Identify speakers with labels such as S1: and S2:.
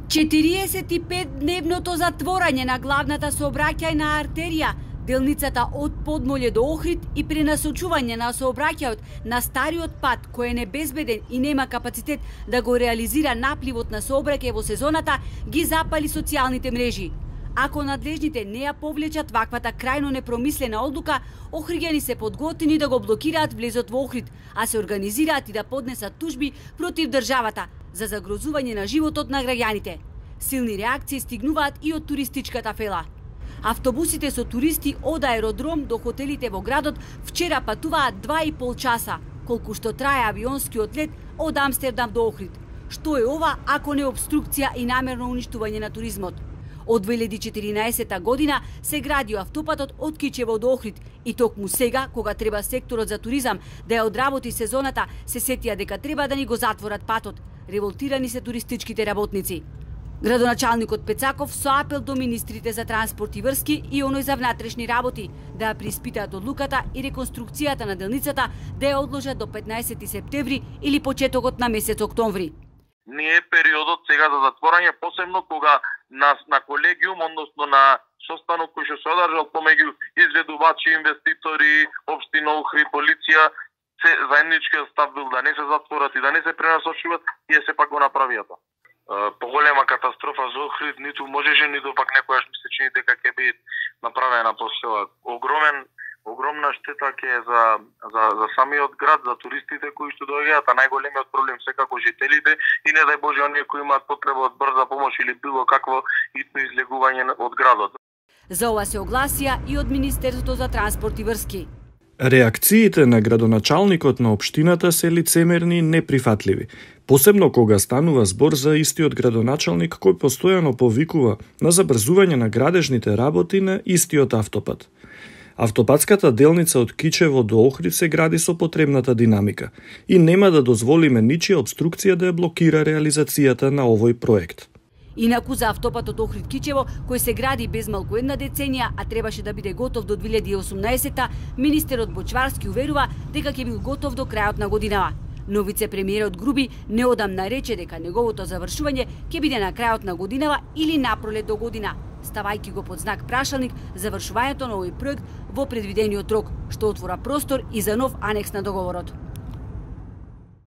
S1: 45-дневното затворање на главната сообраќајна артерија, делницата од Подмолје до Охрид и пренасочување на сообраќајот на стариот пат кој е небезбеден и нема капацитет да го реализира напливот на сообраќај во сезоната, ги запали социјалните мрежи. Ако надлежните не ја повлечат ваквата крајно непромислена одлука, охриѓани се подготвени да го блокираат влезот во Охрид, а се организираат и да поднесат тужби против државата за загрозување на животот на граѓаните. Силни реакции стигнуваат и од туристичката фела. Автобусите со туристи од аеродром до хотелите во градот вчера патуваат 2,5 часа, колку што трае авионскиот лет од Амстердам до Охрид. Што е ова ако не обструкција и намерно уништување на туризмот? Од 2014 година се гради автопатот од Кичево до Охрид и токму сега, кога треба секторот за туризам да ја одработи сезоната, се сетија дека треба да ни го затворат патот. Револтирани се туристичките работници. Градоначалникот Пецаков со апел до министрите за транспорт и врски и оној за внатрешни работи да ја преиспитаат одлуката и реконструкцијата на делницата да ја одложат до 15 септември или почетокот на месец октомври.
S2: Не е периодот сега за затворање, посебно кога на колегиум, односно на состанок кој што се одржал помеѓу изведувачи, инвеститори, општина Охрид, полиција, се заедничкиот став бил да не се затворат и да не се пренасочуваат, и сепак го направиа тоа. Поголема катастрофа за Охрид ниту можеше, ниту пак некојаш ми се чини дека ќе биде направена после ова. Огромна штета ќе е за самиот град, за туристите кои што доаѓаат, а најголемиот проблем секако жителите и не дај Боже оние кои имаат потреба од брза помош или било какво итно излегување од градот.
S1: За ова се огласија и од Министерството за транспорт и врски.
S3: Реакциите на градоначалникот на општината се лицемерни и неприфатливи, посебно кога станува збор за истиот градоначалник кој постојано повикува на забрзување на градежните работи на истиот автопат. Автопатската делница од Кичево до Охрид се гради со потребната динамика и нема да дозволиме ничија обструкција да ја блокира реализацијата на овој проект.
S1: Инаку за автопатот Охрид-Кичево, кој се гради без малку една деценија, а требаше да биде готов до 2018-та, министерот Бочварски уверува дека ќе бил готов до крајот на годинава. Но вице-премиерот Груби неодамна рече дека неговото завршување ќе биде на крајот на годинава или напролет до година, ставајќи го под знак прашалник завршувањето на овој проект во предвидениот рок, што отвора простор и за нов анекс на договорот.